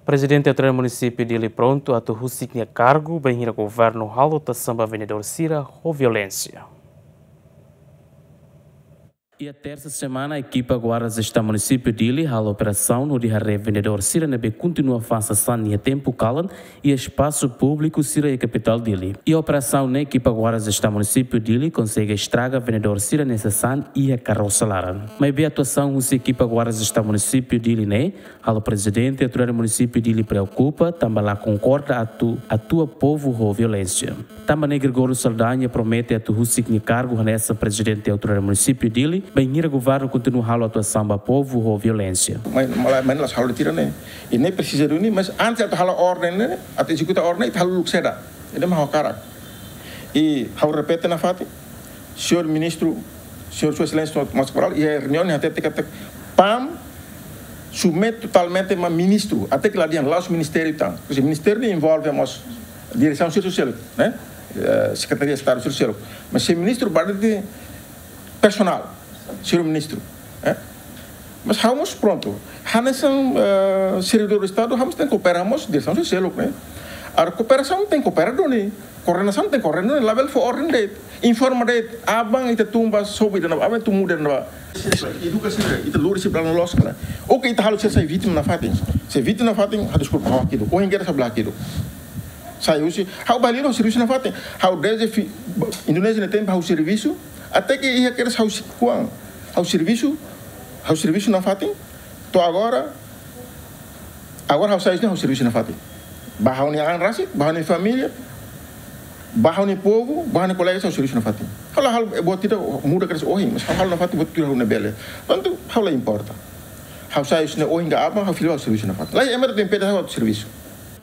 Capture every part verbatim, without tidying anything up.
Prezidente Autoridade Munisípiu Dili prontu atu husik nia kargu bainhira governu halo tuasaun ba vendedór sira ho violénsia. Iha tersa semana, ekipa Guarda Estadu Munisípiu Dili halo operasaun hodi haree vendedór sira ne'ebé kontinua fa'an sasán iha tempu kalan iha espasu públiku sira iha kapitál Dili. Iha operasaun ne'e, ekipa Guarda Estadu Munisípiu Dili konsege estraga vendedór sira-nia sasán iha karosa laran. Maibé atuasaun husi ekipa Guarda Estadu Munisípiu Dili ne'e halo Prezidente Autoridade Munisípiu Dili preokupa, tanba la konkorda atu atua povu ho violénsia. Tanba ne'e, Gregório Saldanha promete atu husik nia kargu hanesan Prezidente Autoridade Munisípiu Dili bainhira governu kontinua halo atuasaun ba povu ho violénsia. Mai, mai, mai la'ós halo tiha ne'e. Ida-ne'e presiza duni, mas antes atu halo orden ne'e, atu ezekuta orden ne'e, ita halo uluk saida. Ida-ne'e mak ha'u hakarak. I ha'u repete nafatin, señór ministru, señór Sua Exelénsia Tomás Cabral, iha reuniaun ne'e hatete katak PAM submete totalmente ba ministru, até ke la dehan la'ós ministériu tan. Pois ministériu ne'e envolve mós diresaun servisu seluk, ne'e? Eh, Sekretaria Estadu servisu seluk. Mas se ministru ba de'it personál, señór ministru, eh? Mas ha'u mós prontu. Hanesan, eh, servidór Estadu, ha'u mós tenke koopera mós diresaun servisu seluk, ne'e? Agora kooperasaun tenke koopera duni, koordenasaun tenke koordenasaun duni, labele fó orden de'it. Informa de'it, aban ita tun ba sobu ida-ne'ebá, aban ita muda ida-ne'ebá. Eduka sira, ita lori sira ba la'o loos kala. Oke, ita halo sira sai vítima nafatin. Sai vítima nafatin, ha'u deskulpa, ha'u hakidu. Ohin kedas ha'u la hakidu. Sai husi, ha'u balido servisu nafatin. Ha'u desde fi-, Indonézia ne'e tempu ha'u servisu, até ke iha kedas ha'u si-, kuan. Ha'u servisu, ha'u servisu nafatin. To'o agora, agora ha'u sai husi ne'e ha'u servisu nafatin. Ba ha'u-nia an rasik, ba ha'u-nia família, ba ha'u-nia povu, ba ha'u-nia kolega ha'u servisu nafatin. Ha'u la halo buat ida muda kedas ohin, mas ha'u halo nafatin buat tuir ha'u-nia bele. Tantu ha'u la importa. Ha'u sai husi ne'e ohin ka aban, ha'u fila ha'u servisu nafatin. Lae, ema tenke impede ha'u servisu.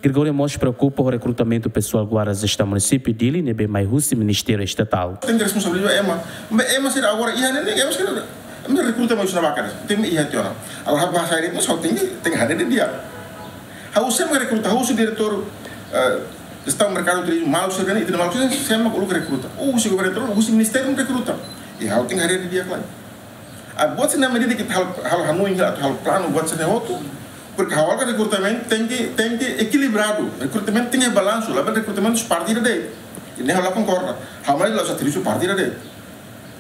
Gregório mós preokupa ho rekrutamentu pesoál Guarda Estadu Munisípiu Dili ne'ebé mai husi Ministériu Estatál. Tenke responsabiliza ema. Maibé ema sira agora iha ne'e, ema sira, ema rekruta mai husi ne'ebá karik. Tenke iha tiha ona. Agora ha'u ba sai, mas ha'u tenke, tenke haree didi'ak. Ha'u sé mak rekruta, ha'u husi diretór, eh, Estadu Merkadu Turizmu, maluk sira ne'e, ita-nia maluk sira, sé mak uluk rekruta. Ha'u husi governu, husi ministériu rekruta. I ha'u tenke haree didi'ak lai. Ah, buat sira-ne'e medida ke halo, halo hanoin, halo, halo planu, buat sira-ne'e hotu. Porke ha'u hakarak rekrutamentu tenke, tenke ekilibradu. Rekrutamentu tenke balansu, labele rekrutamentu husi partidu de'it. Ne'e ha'u la konkorda. Ha'u mai la'ós servisu partidu de'it.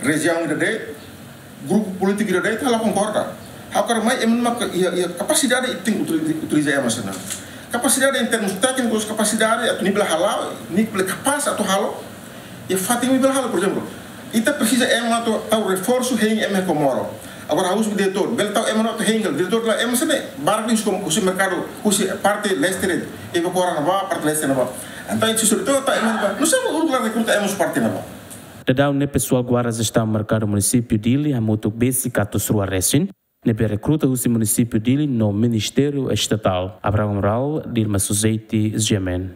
Rejiaun ida de'it, grupu polítiku ida de'it, ha'u la konkorda. Ha'u hakarak mai ema ne'ebé iha, iha kapasidade ita tenke utili-, utiliza ema sira-ne'e. Kapasidade em termos téknikus, kapasidade atu nia bele hala'o, nia bele kapás atu halo. Iha fatin ne'ebé bele halo, por ezemplu, ita presiza ema atu tau reforsu hein ema iha Comoro. Agora ha'u husi diretór, bele tau ema atu hein hela, diretór la ema sira-ne'e, barak husi kom-, husi merkadu, husi parte leste de'it, iha Coral ne'ebá, parte leste ne'ebá. Entaun, se diretór tau ema ne'ebá, nusá mak uluk la rekruta ema husi parte ne'ebá. Daudaun ne'e pesoál Guarda Estadu Merkadu Munisípiu Dili hamutuk besik atus rua resin, ne'ebé rekruta husi Munisípiu Dili no Ministériu Estatál. Abraham Amaral, Dilma Suzeti, G M N.